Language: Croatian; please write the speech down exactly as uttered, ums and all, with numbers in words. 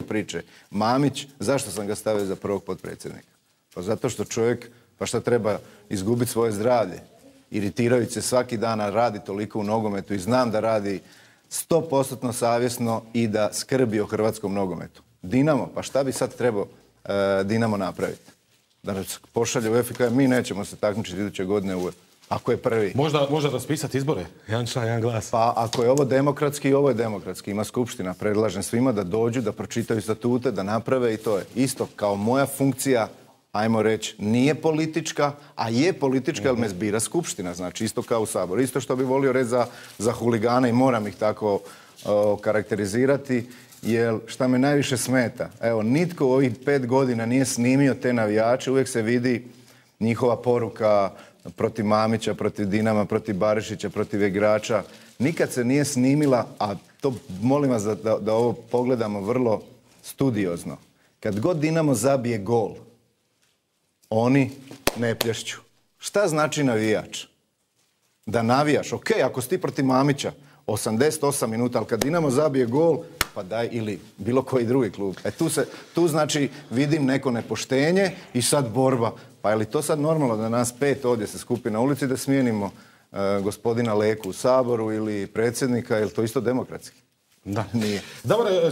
priče. Mamić, zašto sam ga stavio za prvog potpredsjednika? Pa zato što čovjek, pa šta treba izgubiti svoje zdravlje? Iritirajući se svaki dan, a radi toliko u nogometu i znam da radi sto posto savjesno i da skrbi o hrvatskom nogometu. Dinamo, pa šta bi sad trebao e, Dinamo napraviti? Da nas pošalje u UEFA, mi nećemo se takmičiti iduće godine u ako je prvi. Možda, možda raspisati izbore? Jedan član, jedan glas. Pa ako je ovo demokratski, ovo je demokratski. Ima skupština. Predlažem svima da dođu, da pročitaju statute, da naprave i to je. Isto kao moja funkcija, ajmo reći, nije politička, a je politička, jer me zbira skupština. Znači, isto kao u Saboru. Isto što bi volio reći za, za huligane i moram ih tako o, karakterizirati, jer šta me najviše smeta, evo, nitko u ovih pet godina nije snimio te navijače, uvijek se vidi njihova poruka protiv Mamića, protiv Dinama, protiv Barišića, protiv igrača. Nikad se nije snimila, a to molim vas da, da, da ovo pogledamo vrlo studiozno. Kad god Dinamo zabije gol, oni ne plješću. Šta znači navijač? Da navijaš, ok, ako si ti protiv Mamića, osamdeset osam minuta, ali kad Dinamo zabije gol, pa daj, ili bilo koji drugi klub. E tu, se, tu znači vidim neko nepoštenje i sad borba. Pa je li to sad normalno da nas pet ovdje se skupi na ulici da smijenimo uh, gospodina Leku u Saboru ili predsjednika, je li to isto demokratski? Da. Nije. Dobar,